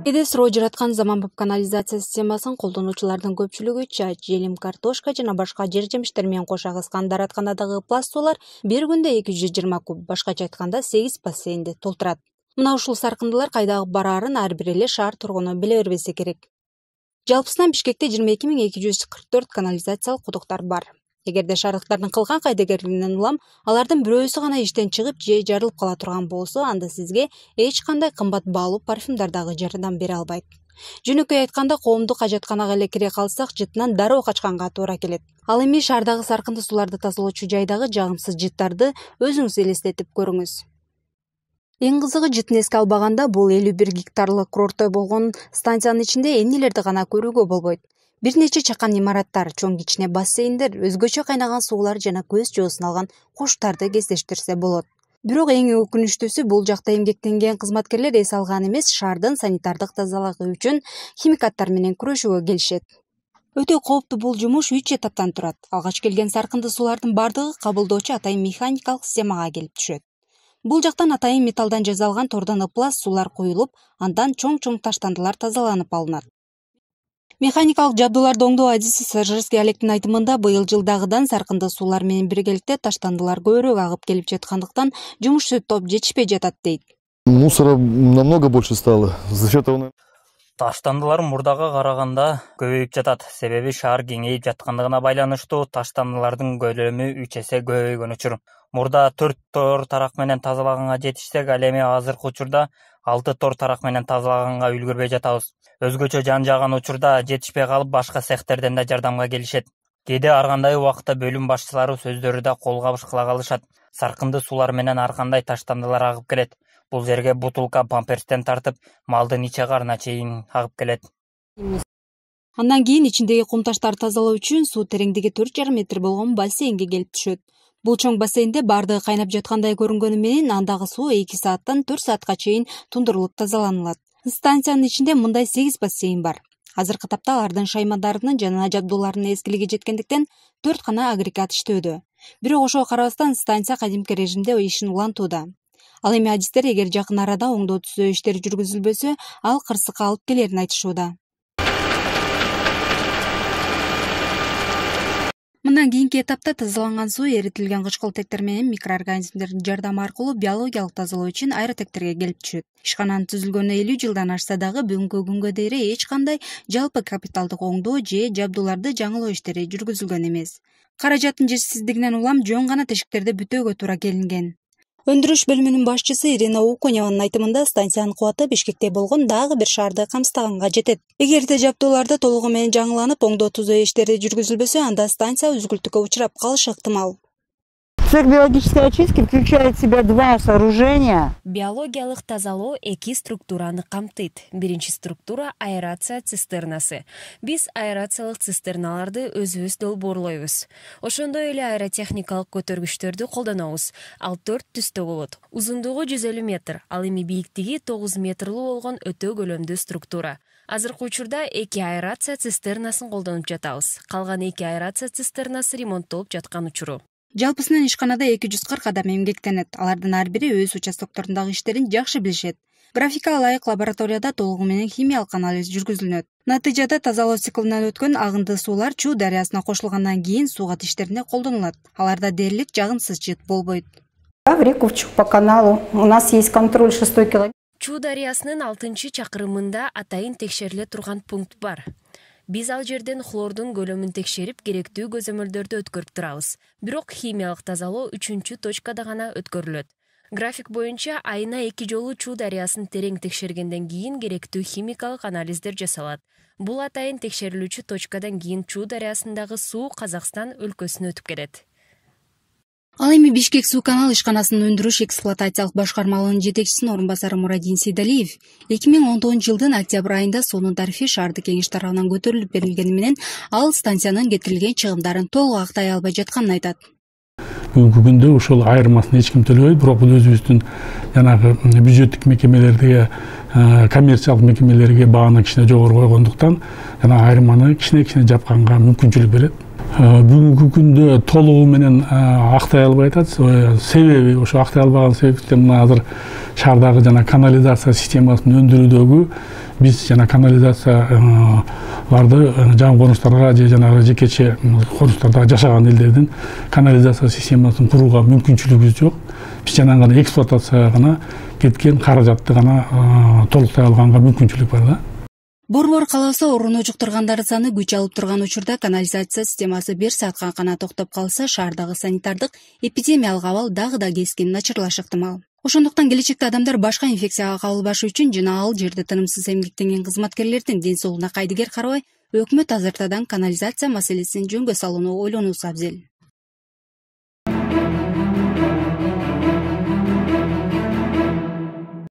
Эде суроо жараткан заманбап канализация системасын колдонуучулардын көпчүлүгү чай, желим, картошка жана башка жер жемиштер менен кошо агызган дааратканадагы пласт суулар бир күндө 220 куб, башкача айтканда 8 бассейнди толтурат. Мына ушул саркындылар кайда бараарын ар бир эле шаар тургуну биле бербесе керек. Жалпысынан Бишкекте 22.244 канализациялык кудуктар бар. Эгерде шаардыктардын кылган кайдыгерлигинен улам алардын бирөөсү гана иштен чыгып же жарылып кала турган болсо, анда сизге эч кандай кымбат баалуу парфюмдар дагы жардам бере албайт. Жөнөкөй айтканда, коомдук ажатканага эле кире калсак, жытынан дароо качканга туура келет. Ал эми шаардагы саркынды сууларды тазалоочу жайдагы жагымсыз жыттарды өзүңүз элестетип көрүңүз. Эң кызыгы, жытын эске албаганда, бул 51 гектарлык курорттой болгон станциянын ичинде эмнелерди гана көрүүгө болбойт. Бир нече чакан имараттар, чоң кичине бассейндер, өзгөчө кайнаган суулар жана көз жоосун алган куштарды кездештирсе болот. Бирок эң өкүнүчтүүсү, бул жакта эмгектенген кызматкерлер эс алган эмес, шаардын санитардык тазалыгы үчүн химикаттар менен күрөшүүгө келишет. Өтө кооптуу бул жумуш 3 этаптан турат. Алгач келген саркынды суулардын бардыгы кабылдоочу атайын механикалык системага келип түшөт. Бул жактан атайын металлдан жасалган тордон ыплас суулар куюлуп, андан чоң-чоң таштандылар тазаланып алынат. Механикалык жабдууларды оңдоо адиси Сажырс диалектин айтымында быйыл жылдагыдан саркынды суулар менен биргеликте таштандылар көбүрөөк агып келип жаткандыктан жумушчу топ жетишпей жатат дейт. Мусора намного больше стало. За счет того... Таштандылар мурдага караганда көбөйүп жатат. Себеби шаар кеңейип жаткандыгына байланыштуу таштандылардын көлөмү 3 эсе көбөйгөн учур. Мурда 4 тор тарак менен тазалаганга жетишсек, ал эми азыркы учурда 6 тор тарак менен тазалаганга үлгүрбөй жатабыз. Өзгөчө жан-жаган учурда жетишпей калып, башка цехтерден да жардамга келишет. Кээде ар кандай убакытта бөлүм башчылары сөздөрү да кол кабыш кыла калышат. Саркынды суулар менен ар кандай таштандылар агып келет. Бул жерге бутулка памперстен тартып, малдын иче карына чейин агып келет. Андан кийин ичиндеги кум таштарды тазалоо үчүн суу тереңдиги 4,5 метр болгон бассейнге келип түшөт. Бул чоң бассейнде бардыгы кайнап жаткандай көрүнгөнү менен андагы суу 2 сааттан 4 саатка чейин тундурулуп тазаланылат. Станциянын ичинде мындай 8 бассейн бар. Азыркы тапта алардын шаймандарынын жана жабдууларынын эскилиги жеткендиктен 4 гана агрегат иштөөдө. Бирок ошого карабастан станция кадимки режимде ишин улантууда. Ал эми адистер эгер жакын арада оңдоо түзөө иштери жүргүзүлбөсө, ал кырсыкка алып келерин айтышууда. Мындан кийинки этапта тазаланган суу эритилген кычкылтектер менен микроорганизмдердин жардамы аркылуу биологиялык тазалоо үчүн аэротектерге келип түшөт. Ишкананын түзүлгөнүнө 50 жылдан ашса дагы бүгүнкү күнгө дейин эч кандай жалпы капиталдык оңдоо же жабдууларды жаңылоо иштери жүргүзүлгөн эмес. Каражаттын жетишсиздигинен улам жөн гана тешиктерди бүтөөгө туура келинген. Өндүрүш бөлүмүнүн башчысы Ирина Уконеванын айтымында, станциянын кубаты Бишкекте болгон дагы бир шаарды камсыздаганга жетет. Эгерде жабдууларды толугу менен жаңыланып, оңдоо түзөө иштери жүргүзүлбөсө, анда станция үзгүлтүккө учурап калышы ыктымал. Цех биологической очистки включает в себя 2 сооружения. Биологиялык тазалоо 2 структураны камтыйт. Биринчи структура — аэрация цистернасы. Биз аэрациялык цистерналарды өзүбүз долбоорлойбуз. Ошондой эле аэротехникалык көтөргүчтөрдү колдонобуз. Ал 4 түстө болот. Узундугу 150 метр, ал эми бийиктиги 9 метрлүү болгон өтө көлөмдүү структура. Азыркы учурда 2 аэрация цистернасын колдонуп жатабыз. Калган 2 аэрация цистернасы ремонттолуп жаткан учуру. Жалпысынан ишканада 240 адам эмгектенет. Алардын ар бири өз участокторундагы иштерин жакшы билишет. Графикага ылайык лабораторияда толугу менен химиялык анализ жүргүзүлөт. Натыйжада тазалоо циклинен өткөн агынды суулар Чуу дарыясына кошулгандан кийин суугат иштерине колдонулат. Аларда дээрлик жагымсыз жыт болбойт. В реку по каналу. У нас есть контроль 6 километр. Чуу дарыясынын 6-чакырымында атайын текшериле турган пункт бар. Биз ал жерден хлордун көлөмүн текшерип, керектүү көзөмөлдөрдү өткөрүп турабыз. Бирок химиялык тазалоо 3-точкада гана өткөрүлөт. График боюнча айына 2 жолу Чуу дарыясын терең текшергенден кийин керектүү химикалык анализдер жасалат. Бул атайын текшерилүүчү точкадан кийин Чуу дарыясындагы суу Казакстан өлкөсүнө өтүп келет. Ал эми Бишкек суу канал ишканасынын өндүрүш эксплуатациялык башкармалыгынын жетекчисинин орун басары Мурадин Сейдалиев 2019-жылдын октябрь айында суунун тарифи шаардык кеңеш тарабынан көтөрүлүп берилгени менен ал станциянын кетирилген чыгымдарын толук актай албай жатканын айтат. Бүгүнкү күндө ошол айырмасын эч ким төлөбөйт, бирок бул өзүбүздүн жанагы бюджеттик мекемелерге, коммерциялык мекемелерге бааны кичине жогору койгондуктан жана айырманы кичине жапканга мүмкүнчүлүк берет. бүгүнкү күндө толугу менен актай албай атат. Себеби ошо актай албаган себептен мына азыр шаардагы жана канализация системасын өндүрүүдөгү биз жана канализацияларды жаңы конуштарга же жанагы жекече конуштарда жашаган элдердин канализация системасын курууга мүмкүнчүлүгүбүз жок. Биз жанагы гана эксплуатацияга гана кеткен каражатты гана толуктай алганга мүмкүнчүлүк бар да. Борбор кааласа орун жуктургандардын саны күч алып турган учурда канализация системасы 1 саатка гана токтоп калса, шаардагы санитардык эпидемиялык абал дагы да кескин начарлашы ыктымал. Ошондуктан келечекте адамдар башка инфекцияга кабылбашы үчүн жана ал жерде тынымсыз эмгектенген кызматкерлердин ден соолугуна кайдыгер карабай, өкмөт азыртадан канализация маселесин жөнгө салууну ойлонуусу абзел.